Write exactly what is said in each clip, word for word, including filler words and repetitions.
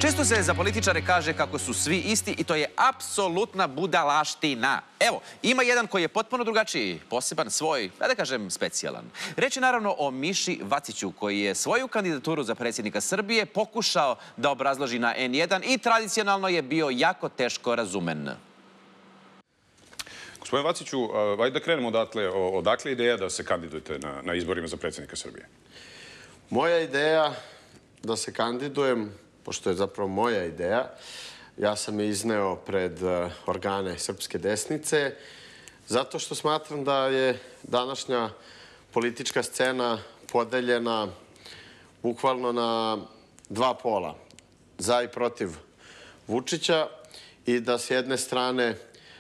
Često se za političare kaže kako su svi isti i to je apsolutna budalaština. Evo, ima jedan koji je potpuno drugačiji, poseban, svoj, da kažem, specijalan. Reč je naravno o Miši Vaciću, koji je svoju kandidaturu za predsjednika Srbije pokušao da obrazloži na en jedan i tradicionalno je bio jako teško razumen. Gospodin Vaciću, ajde da krenemo odatle. Odakle ideja da se kandidujete na, na izborima za predsjednika Srbije? Moja ideja da se kandidujem, pošto je zapravo moja ideja, ja sam je izneo pred organe srpske desnice, zato što smatram da je današnja politička scena podeljena bukvalno na dva pola, za i protiv Vučića, i da s jedne strane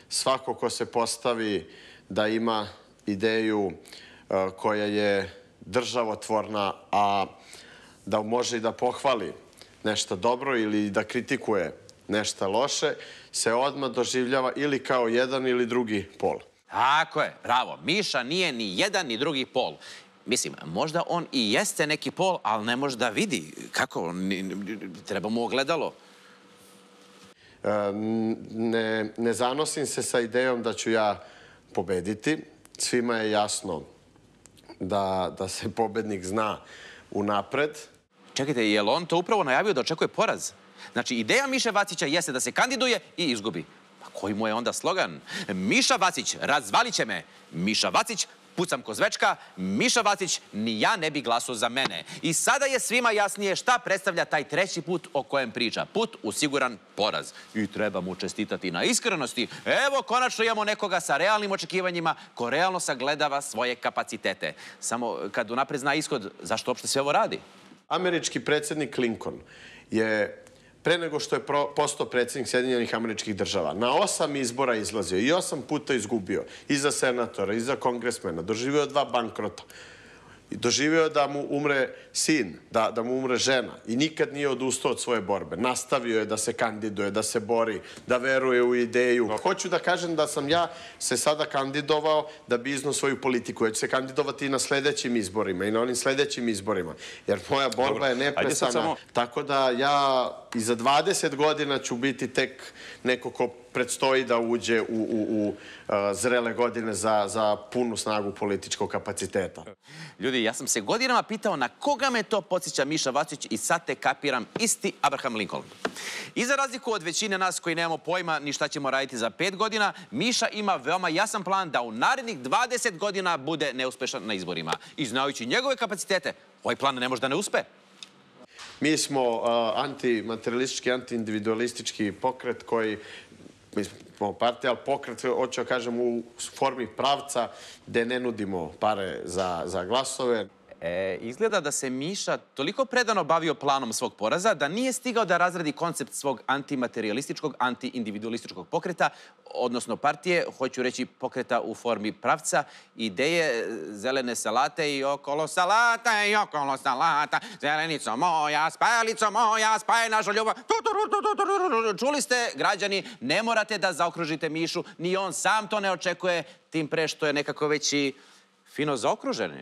svako ko se postavi da ima ideju koja je državotvorna, a da može i da pohvali nešto dobro ili da kritikuje nešto loše, se odmah doživljava ili kao jedan ili drugi pol. Tako je, bravo. Miša nije ni jedan ni drugi pol. Mislim, možda on i jeste neki pol, ali ne može da vidi. Kako? Treba mu ogledalo. Ne, ne zanosim se sa idejom da ću ja pobediti. Svima je jasno da, da se pobednik zna unapred. Čekajte, je li on to upravo najavio da očekuje poraz? Znači, ideja Miše Vacića jeste da se kandiduje i izgubi. Pa koji mu je onda slogan? Miša Vacić, razvalit će me. Miša Vacić, pucam ko zvečka. Miša Vacić, ni ja ne bi glasao za mene. I sada je svima jasnije šta predstavlja taj treći put o kojem priča. Put u siguran poraz. I treba mu čestitati na iskrenosti. Evo, konačno imamo nekoga sa realnim očekivanjima ko realno sagledava svoje kapacitete. Samo kad unapred zna ishod, zašto uopšte sve ovo radi? Američki predsjednik Lincoln je, pre nego što je postao predsjednik Sjedinjenih Američkih Država, na osam izbora izlazio i osam puta izgubio. I za senatora, i za kongresmena. Doživio dva bankrota. I doživio da mu umre sin, da, da mu umre žena. I nikad nije odustao od svoje borbe. Nastavio je da se kandiduje, da se bori, da veruje u ideju. Hoću da kažem da sam ja se sada kandidovao da bi iznao svoju politiku. Ja ću se kandidovati i na sledećim izborima i na onim sledećim izborima. Jer moja borba je neprestana. Samo... Tako da ja i za dvadeset godina ću biti tek neko ko predstoji da uđe u, u, u uh, zrele godine za, za punu snagu političkog kapaciteta. Ljudi, ja sam se godinama pitao na koga me to podsjeća Miša Vacić i sad te kapiram, isti Abraham Lincoln. I za razliku od većine nas koji nemamo pojma ni šta ćemo raditi za pet godina, Miša ima veoma jasan plan da u narednih dvadeset godina bude neuspešan na izborima. I znajući njegove kapacitete, ovaj plan ne može da ne uspe. Mi smo uh, antimaterialistički, antiindividualistički pokret koji, mi smo partija, ali pokret, hoću da kažem, u formi pravca gde ne nudimo pare za, za glasove. E, izgleda da se Miša toliko predano bavio planom svog poraza da nije stigao da razradi koncept svog antimaterialističkog, antiindividualističkog pokreta, odnosno partije, hoću reći pokreta u formi pravca, ideje zelene salate i okolo salata i okolo salata, zelenico moja, spajalico moja, spaj našu ljubav. Čuli ste, građani, ne morate da zaokružite Mišu, ni on sam to ne očekuje, tim pre što je nekako već i fino zaokruženi.